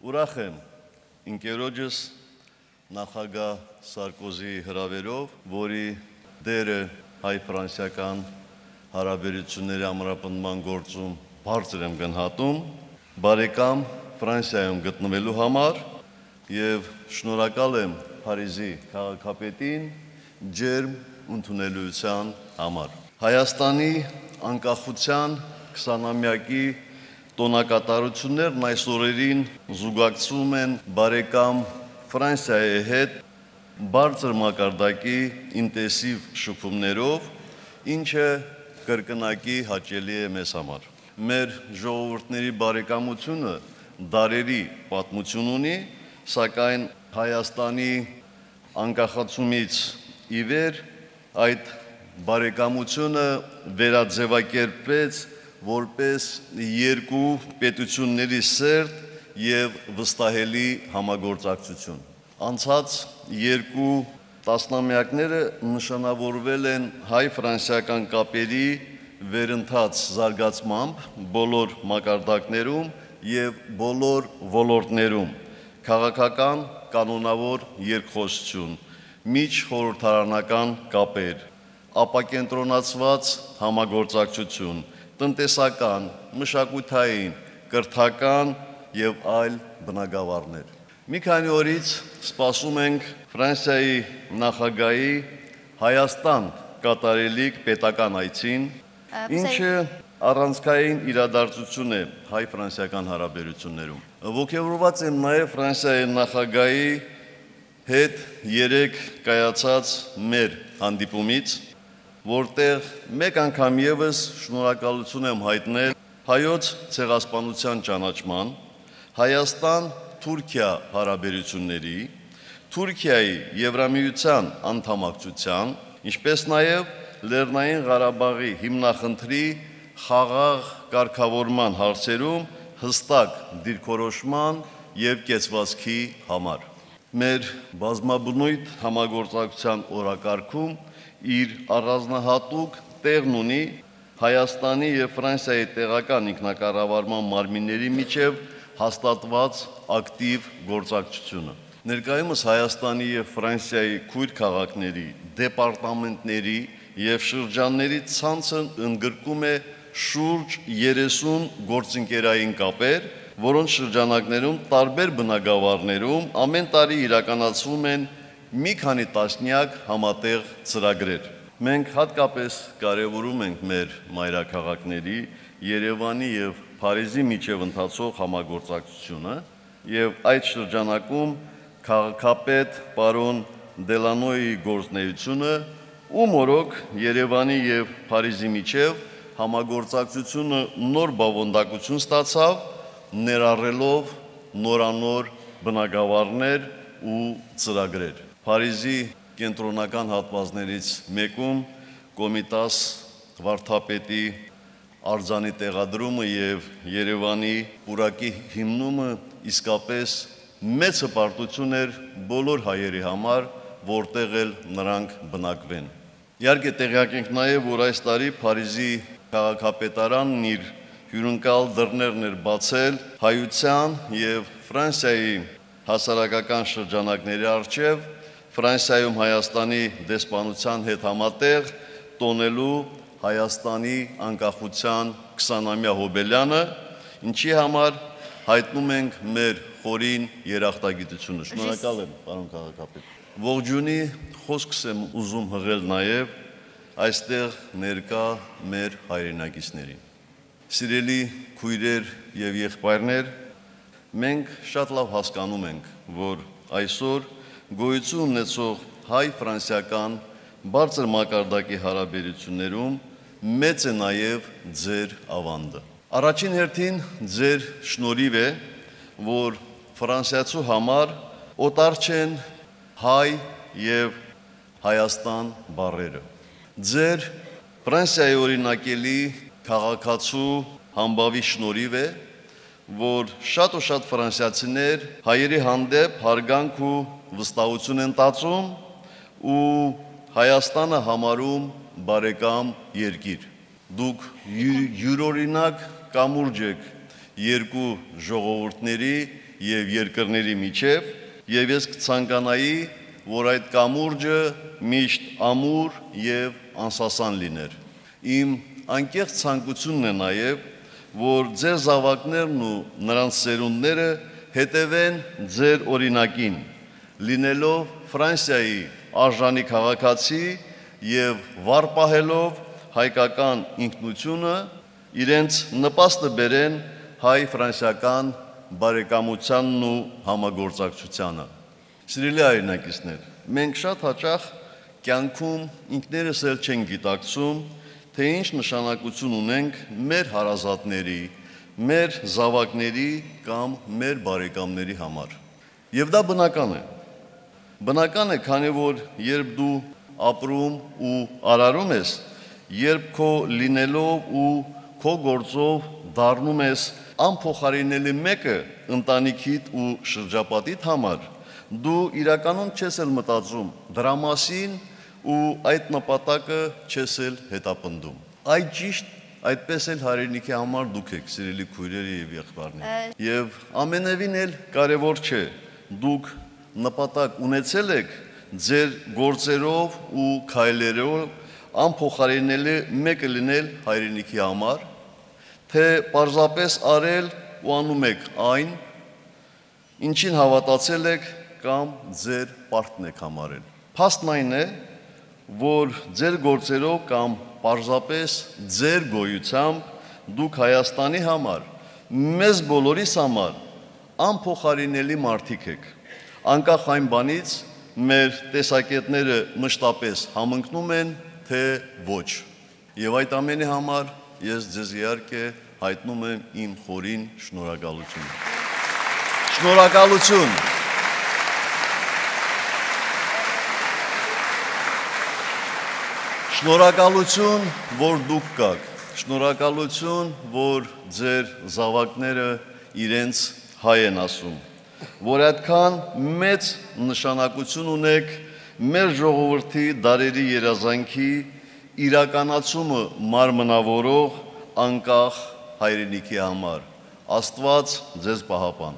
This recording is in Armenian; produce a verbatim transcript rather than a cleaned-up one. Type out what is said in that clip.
Ուրախ եմ ինքերոջս նախագահ Սարկոզիի հրավերով, որի դերը հայ-ֆրանսիական հարաբերությունների ամրապնդման գործում բարձր եմ գնահատում, բարեկամ Ֆրանսիայում գտնվելու համար եւ շնորհակալ եմ Փարիզի քաղաքապետին ջերմ ընդունելության համար։ Հայաստանի անկախության քսանամյակի տոնակատարություններն այս օրերին զուգակցում են բարեկամ Ֆրանսիայի հետ բարձր մակարդակի ինտենսիվ շփումներով, ինչը կրկնակի հաճելի է մեզ համար։ Մեր ժողովուրդների բարեկամությունը դարերի պատմություն ունի, սակայն Հայաստանի անկախացումից ի վեր այդ բարեկամությունը վերաձևակերպվեց որպես երկու պետությունների սերտ եւ վստահելի համագործակցություն։ Անցած երկու տասնամյակները նշանավորվել են հայ-ֆրանսիական կապերի վերընթաց զարգացմամբ բոլոր մակարդակներում եւ բոլոր ոլորտներում, քաղաքական, կանոնավոր երկխոսություն, միջխորհրդարանական կապեր, ապակենտրոնացված համագործակցություն, տնտեսական, մշակութային, կրթական եւ այլ բնագավառներ։ Մի քանի օրից սպասում ենք Ֆրանսիայի նախագահի Հայաստան կատարելիք պետական այցին, ինչը առանցքային իրադարձություն է հայ-ֆրանսիական հարաբերություններում։ Ողջավորված եմ նաեւ Ֆրանսիայի նախագահի հետ երեք կայացած մեր հանդիպումից, որտեղ մեկ անգամ եւս շնորհակալություն եմ հայտնել հայոց ցեղասպանության ճանաչման, Հայաստան-Թուրքիա հարաբերությունների, Թուրքիայի Եվրամիության անդամակցության, ինչպես նաեւ Լեռնային Ղարաբաղի հիմնախնդրի խաղաղ կարգավորման հարցերում հստակ դիրքորոշման եւ կեցվածքի համար։ Մեր բազմաբնույթ համագործակցության օրակարգում իր առանձնահատուկ տեղն ունի Հայաստանի եւ Ֆրանսիայի տեղական ինքնակառավարման մարմինների միջև հաստատված ակտիվ գործակցությունը։ Ներկայումս Հայաստանի եւ Ֆրանսիայի քույր քաղաքների, դեպարտամենտների եւ շրջանների ցանցը ընդգրկում է շուրջ երեսուն գործընկերային կապեր, որոնց շրջանակներում տարբեր բնագավառներում ամեն տարի իրականացվում են մի քանի տասնյակ համատեղ ծրագրեր։ Մենք հատկապես կարևորում ենք մեր մայրաքաղաքների Երևանի եւ Փարիզի միջև ընթացող համագործակցությունը եւ այդ շրջանակում քաղաքապետ պարոն Դելանոյի գործունեությունը, ում օրոք Երևանի եւ Փարիզի միջև համագործակցությունը նոր բովանդակություն ստացավ, ներառելով նորանոր բնագավառներ ու ծրագրեր։ Փարիզի կենտրոնական հատվածներից մեկում Կոմիտաս վարդապետի արձանի տեղադրումը եւ Երևանի պուրակի հիմնումը իսկապես մեծ հպարտություն էր բոլոր հայերի համար, որտեղ էլ նրանք բնակվեն։ Իհարկե տեղյակ ենք նաեւ, որ այս տարի Փարիզի քաղաքապետարանն իր հյուրընկալ դռներն էր բացել հայության եւ Ֆրանսիայի հասարակական շրջանակների առջև Ֆրանսիայում Հայաստանի դեսպանության հետ համատեղ տոնելու Հայաստանի անկախության քսանամյա հոբելյանը, ինչի համար հայտնում ենք մեր խորին երախտագիտությունը։ Շնորհակալ եմ, պարոն քաղաքապետ։ Ողջունի խոսքս եմ ուզում հղել նաեւ այստեղ ներկա մեր հայրենակիցներին։ Սիրելի քույրեր եւ եղբայրներ, մենք շատ լավ հասկանում ենք, որ այսօր գոյություն ունեցող հայ-ֆրանսիական բարձր մակարդակի հարաբերություններում մեծ է նաեւ ձեր ավանդը։ Առաջին հերթին ձեր շնորհիվ է, որ ֆրանսիացու համար օտար չեն հայ եւ Հայաստան բառերը։ Ձեր Ֆրանսիայի օրինակելի քաղաքացու համբավի շնորհիվ է, որ շատ ու շատ ֆրանսիացիներ հայերի հանդեպ հարգանք ու վստահություն են տածում ու Հայաստանը համարում բարեկամ երկիր։ Դուք յուրօրինակ կամուրջ եք երկու ժողովուրդների եւ երկրների միջև, եւ ես կցանկանայի, որ այդ կամուրջը միշտ ամուր եւ անսասան լիներ։ Իմ անկեղծ ցանկությունն է նաեւ, որ ձեր զավակներն ու նրանց սերունդները հետևեն ձեր օրինակին, լինելով Ֆրանսիայի արժանի քաղաքացի եւ վառ պահելով հայկական ինքնությունը, իրենց նպաստը բերեն հայ-ֆրանսիական բարեկամությանն ու համագործակցությանը։ Սիրելի հայրենակիցներ, մենք շատ հաճախ կյանքում ինքներս էլ չենք գիտակցում, թե ինչ նշանակություն ունենք մեր հարազատների, մեր զավակների կամ մեր բարեկամների համար։ Եվ դա բնական է։ Բնական է, քանի որ երբ դու ապրում ու արարում ես, երբ քո լինելով ու քո գործով դառնում ես անփոխարինելի մեկը ընտանիքիդ ու շրջապատիդ համար, դու իրականում չես էլ մտածում դրա մասին ու այդ նպատակը չես էլ հետապնդում։ Այդ ճիշտ այդպես էլ հայրենիքի համար դուք եք, սիրելի քույրեր եւ եղբայրներ։ Եվ ամենևին էլ կարևոր չէ, դուք նպատակ ունեցել եք ձեր գործերով ու քայլերով անփոխարինելի մեկը լինել հայրենիքի համար, թե պարզապես արել ու անում եք այն, ինչին հավատացել եք կամ ձեր պարտքն եք համարել։ Փաստն այն է, որ ձեր գործերով կամ պարզապես ձեր գոյությամբ դուք Հայաստանի համար, մեզ բոլորիս համար անփոխարինելի մարդիկ եք։ Անկախ այն բանից, մեր տեսակետները մշտապես համընկնում են, թե ոչ։ Եվ այդ ամենի համար ես ձեզ իհարկե հայտնում եմ իմ խորին շնորհակալությունը։ Շնորհակալություն։ Շնորհակալություն, որ դուք կաք, շնորհակալություն, որ ձեր զավակները իրենց հայ են ասում, որ այդքան մեծ նշանակություն ունեք մեր ժողովրդի դարերի երազանքի իրականացումը մարմնավորող անկախ հայրենիքի համար։ Աստված ձեզ պահապան։